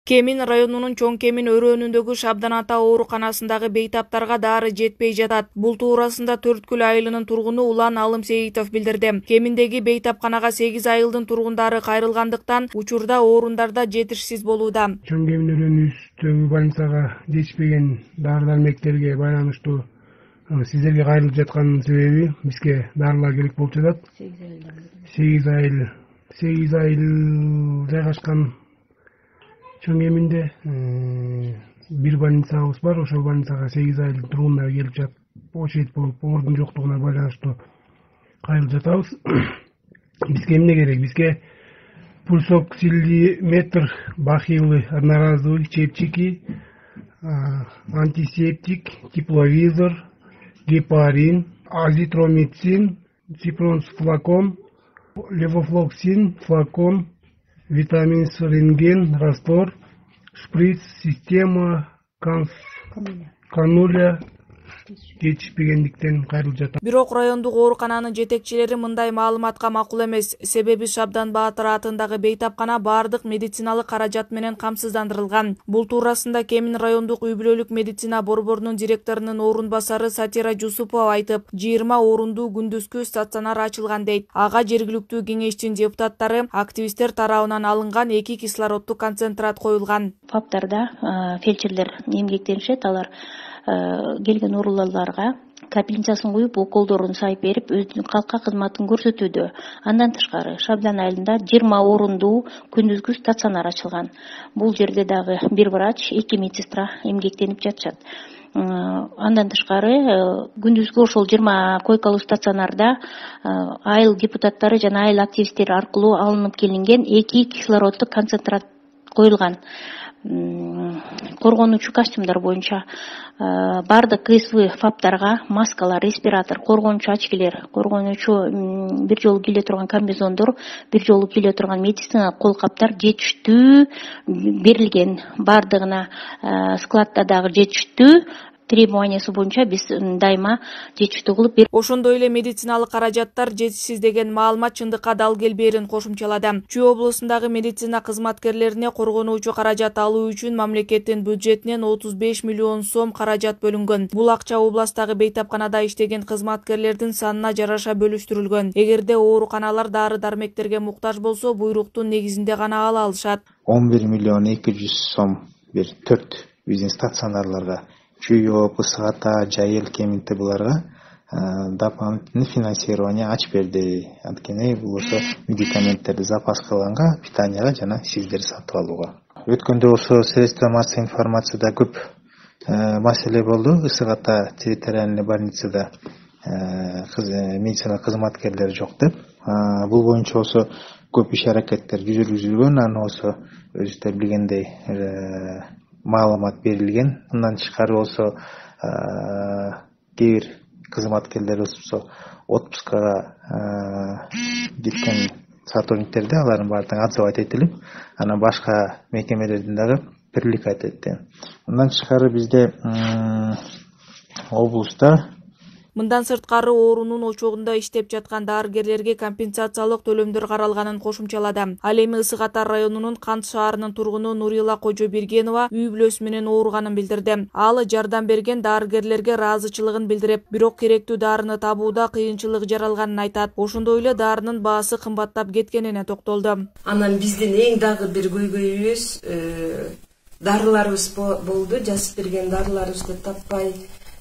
Кемин районунун Чоң Кемин өрөөнүндөгү Шабдан ата ооруканасындагы бейтаптарга дары жетпей жатат. Бул туурасында Төрткүл айылынын тургуну Улан Алым Сейитов билдирди. Кеминдеги бейтапканага 8 айылдын тургундары кайрылгандыктан учурда орундарда жетишсиз болууда. Чоң Кемин өрөөнүбүздөгү больницага жетишпеген дары-дармектерге байланыштуу сиздерге кайрылып жатканын себеби бизге дарылар керек болуп жатат. 8 айыл жайгашкан Чоң Кеминде бир больницабыз бар. Ошол больницага 8 айыл тургундар келип жатып, очередь болуп, ордун жоктугуна байланыштуу кайрылып жатабыз. Бизге эмне керек? Бизге пульсоксилиметр, бахилы, одноразовый, чепчики, антисептик, тепловизор, гепарин, азитромицин, ципронс-флакон, левофлоксин, флакон, витамин-С рентген, раствор, шприц, система, кануля жетишпегендиктен кайрылып жатат. Бирок райондук оорукананын жетекчилери мындай маалыматка макул эмес. Себеби Шабдан Баатыр атындагы бейтапкана баардык медициналык каражат менен камсыздандырылган. Бул туурасында Кемин райондук үй-бүлөлүк медицина борборунун директорунун орун басары Сатира Жусупова айтып, 20 орундуу күндүзгү стационар ачылган дейт. Ага жергиликтүү кеңештин депутаттары, активисттер тарабынан алынган 2 кислороддук концентрат коюлган. ФАПтарда фельдшерлер эмгектенишет, алар келген оорулууларга капельницасын куюп, уколдорун сайып берип, өзүнүн калкка кызматын көрсөтүүдө. Андан тышкары Шабдан айылында 20 орундуу күндүзгү стационар ачылган. Бул жерде дагы бир врач, 2 медсестра эмгектенип жатышат. Андан тышкары күндүзгү ошол 20 койкалуу стационарда айыл депутаттары жана айыл активисттери аркылуу алынып келинген 2 кислороддук концентрат коюлган. Коргонуучу костюмдар боюнча бардык КСВ ФАПтарга маскалар, респиратор, коргонуучу очкилер, коргонуучу бир жолу кийле турган комбинезондор, бир жолу кийле турган медициналык кол каптар жетиштүү берилген. Бардыгына складда дагы жетиштүү требованиясы боюнча биз дайыма жетиштүү кылып берип. Ошондой эле медициналык каражаттар жетишсиз деген маалымат чындыкка дал келбээрин кошумчалады. Чүй облусундагы медицина кызматкерлерине коргонуучу каражат алуу үчүн мамлекеттин бюджетинен 35 миллион сом каражат бөлүнгөн. Бул акча областагы бейтапканада иштеген кызматкерлердин санына жараша бөлүштүрүлгөн. Эгерде ооруканалар дары-дармектерге муктаж болсо, буйруктун негизинде гана ала алышат. 11 миллион 200 сом бир 4 биздин стационарларга Чүй, Ысык ата, Жайыл, Кеминте буларга дополнительный финансирование ачып берди. Анткени бул ошо медикаменттерди запас кылганга, питанияга жана сиздер сатып алууга. Өткөндө ошо средства массовой информацияда көп маселе болду. Ысык ата территориальный больницада медицина кызматкерлери жок деп. Бул боюнча ошо көп иш аракеттер жүргүзүлгөн, аны ошо өзүңүздөр билгендей маалымат берилген. Мындан тышкары болсо кээ бир кызматкерлер болсо отпускага кеткен сотрудниктерди алардын баардыгын отзывать этилип, анан башка мекемелердин дагы привлекать этти. Мындан тышкары бизде облуста Мындан сырткары оорунун очогунда иштеп жаткан дарыгерлерге компенсациялык төлөмдөр каралганын кошумчалады. Ал эми Ысык ата районунун Кант шаарынын тургуну Нурила Кожобергенова үй бүлөсү менен ооруганын билдирди. Ал жардам берген дарыгерлерге ыраазычылыгын билдирип, бирок керектүү дарыны табууда кыйынчылык жаралганын айтат. Ошондой эле дарынын баасы кымбаттап кеткенине токтолду. Анан биздин эң дагы бир көйгөйүбүз дарыларыбыз болду. Жазып берген дарыларыбызды таппай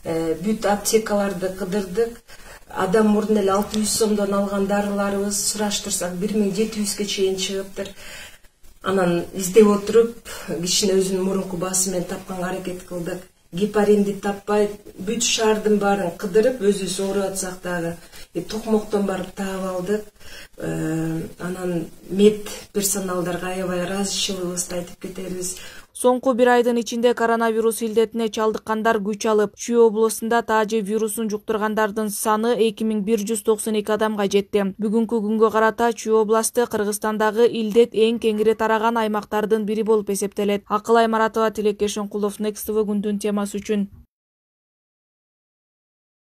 бүт аптекаларды кыдырдык. Адам мурдун эле 600 сомдон алган дарыларыбыз сураштырсак 1700ге чейин чыгыптыр. Анан издеп отуруп, кишини өзүнүн мурунку баасы менен тапканга аракет кылдык. Гепаринди таппай, бүт шаардын баарын кыдырып, өзүбүз ооруп атсак дагы токмоктон барып таап алдык. Анан мед персоналдарга аябай ыраазычылыгыбызды айтып кетебиз. Соңку бир айдын ичинде коронавирус илдетине чалдыккандар күч алып, Чүй облусунда таажы вирусун жуктургандардын саны 2192 адамга жетти. Бүгүнкү күнгө карата Чүй областы Кыргызстандагы илдет эң кеңири тараган аймактардын бири болуп эсептелет. Акылай Маратова, Тилекеш Оңкулов, Next TV күндүн темасы үчүн.